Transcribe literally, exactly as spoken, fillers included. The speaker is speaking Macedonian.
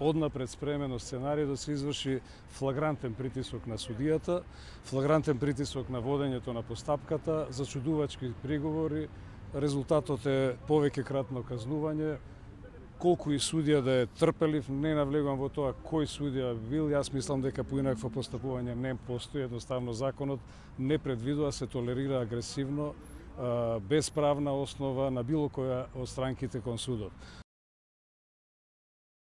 однапред спремено сценарij да се изврши флагрантен притисок на судијата, флагрантен притисок на водењето на постапката, зачудувачки приговори, резултатот е повеќе кратно казнување. Колку и судија да е трпелив, не навлегувам во тоа кој судија бил, јас мислам дека поинакво постапување не постои, едноставно законот не предвидува, се толерира агресивно, без правна основа на било која од странките кон судот.